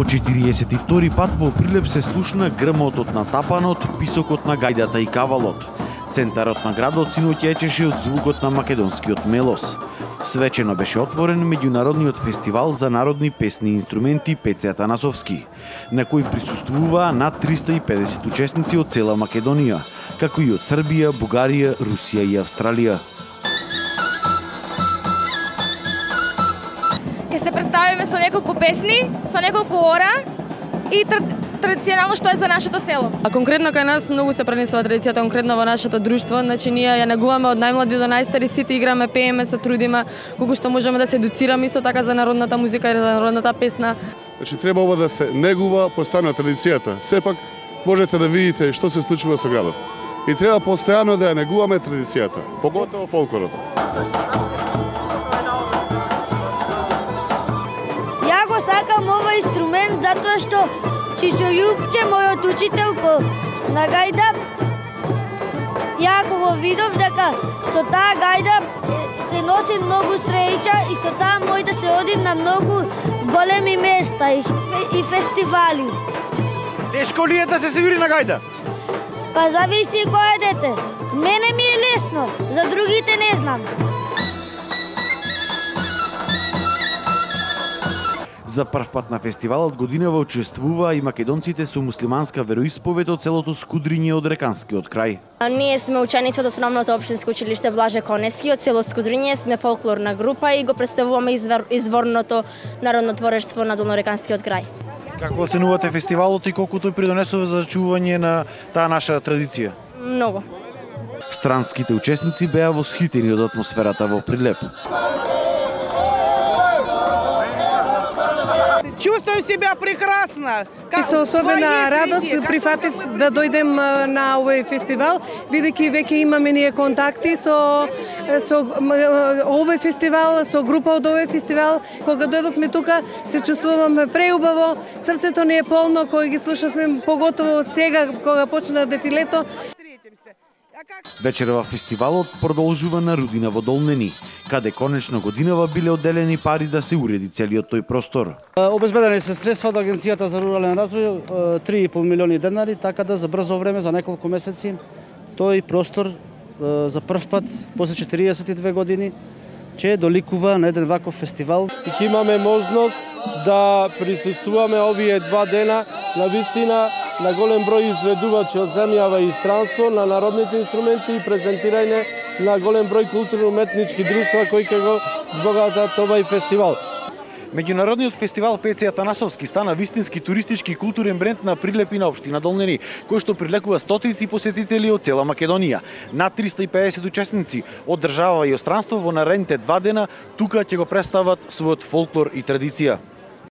По 42 пат во Прилеп се слушна грмотот на тапанот, писокот на гајдата и кавалот. Центарот на градот синоќа ечеше од звукот на македонскиот мелос. Свечено беше отворен меѓународниот фестивал за народни песни и инструменти Пеце Атанасовски, на кој присуствуваа над 350 учесници од цела Македонија, како и од Србија, Бугарија, Русија и Австралија. Ке се представиме со неколку песни, со неколку ора и традиционално што е за нашето село. А конкретно кај нас многу се пренесува традицијата конкретно во нашето друштво, значи ние ја негуваме од најмлади до најстари, сите играме, пееме, се трудиме колку што можеме да се едуцираме исто така за народната музика и за народната песна. Значи треба ова да се негува, постојано традицијата. Сепак можете да видите што се случува со градот. И треба постојано да ја негуваме традицијата, поготово фолклорот. Ја го сакам овој инструмент затоа што Чичо Љупче, мојот учител на гајда, ја кога го видов дека со таа гајда се носи многу среќа и со таа може да се оди на многу големи места и фестивали. Тешко ли е да се свири на гајда? Па зависи кој е дете. Мене ми е лесно, за другите не знам. За прв пат на фестивалот годинава учествуваа и македонците со муслиманска вероисповед од селото Скудриње од Реканскиот крај. Ние сме ученици од основното општинско училиште Блаже Конески од село Скудриње, сме фолклорна група и го представуваме изворното народно творештво на Долнореканскиот крај. Како оценувате фестивалот и колку тој придонесува за чување на таа наша традиција? Многу. Странските учесници беа восхитени од атмосферата во Прилеп. Чувствувам себя прекрасно. И со особена радост прифатив да дојдем на овој фестивал, бидејќи веќе имаме ние контакти со овој фестивал, со група од овој фестивал. Кога дојдовме тука, се чувствуваме преубаво, срцето ни е полно кога ги слушавме, поготово сега кога почна дефилето. Вечерва фестивалот продолжува на Рудина во Долнени, каде конечно годинава биле одделени пари да се уреди целиот тој простор. Обезбедени се средства од Агенцијата за рурален развој 3,5 милиони денари, така да за брзо време, за неколку месеци, тој простор за прв пат после 42 години ќе доликува на еден ваков фестивал. И ќе имаме можност да присуствуваме овие 2 дена на вистина на голем број изведувачи од земјава и странство на народните инструменти и презентирање на голем број културно-уметнички друштва кои ќе го збогатат овој фестивал. Меѓународниот фестивал Пеце Атанасовски стана вистински туристички и културен бренд на Прилеп и на општина Долнени, кој што привлекува стотици посетители од цела Македонија. Над 350 учесници од држава и од странство во наредните 2 дена тука ќе го представат својот фолклор и традиција.